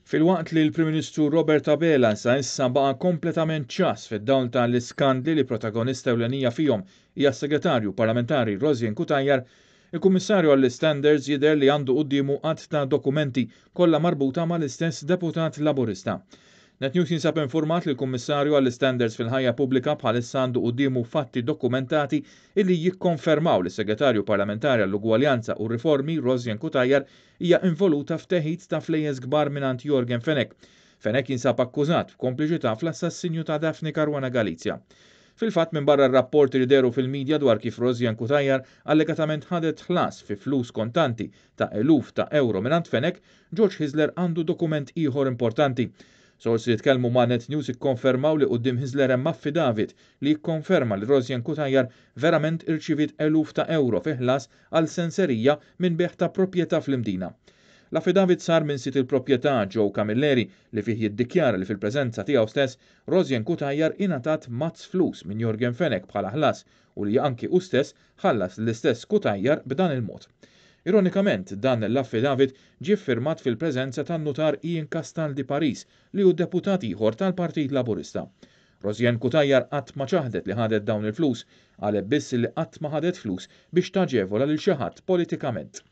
Filwaqt li l-Prim Ministru Robert Abela sa issa baqa' kompletament ċass fid-dawl ta' l-iskandli li protagonista ewlenija fihom hija s-Segretarju Parlamentari Rosianne Cutajar, il-Kummissarju għall-Istandards jidher li għandu quddiemu għadd ta' dokumenti kollha marbuta mal-istess deputat Laburista. Net News jinsab infurmat li l-Kummissarju għall-Istandards fil-Ħajja Pubblika bħalissa għandu quddiemu fatti dokumentati illi jikkonfermaw li s-Segretarju Parlamentari għall-Ugwaljanza u r-Riformi Rosianne Cutajar hija involuta f'teħid ta' flejjes kbar mingħand Yorgen Fenech. Fenech jinsab akkużat b'kompliċità fl-assassinju ta' Daphne Caruana Galizia. Fil-fatt, minbarra r-rapporti li dehru fil-media dwar kif Rosianne Cutajar allegatament ħadet ħlas fi flus kontanti ta' eluf ta' ewro mingħand Fenech, George Hyzler għandu dokument ieħor importanti. Sorsi li tkellmu ma' Net News ikkonfermaw li quddiem Hyzler hemm affidavit li jikkonferma li Rosianne Cutajar verament irċiviet eluf ta' ewro fi ħlas għal senserija minn bejgħ ta' proprjetà fl-Imdina. L-affidavit sar minn sid il-proprjetà Joe Camilleri li fih jiddikjara li fil-preżenza tiegħu stess Rosianne Cutajar ingħatat mazz flus minn Yorgen Fenech bħala ħlas u li anki hu stess ħallas lill-istess Cutajar b'dan il-mod. Ironikament, dan l-affidavit ġie ffirmat fil-preżenza tan-Nutar Ian Castaldi Paris li hu deputat ieħor tal-Partit Laburista. Rosianne Cutajar qatt ma ċaħdet li ħadet dawn il-flus, qalet biss li qatt ma ħadet flus biex taġevola lil xi ħadd politikament.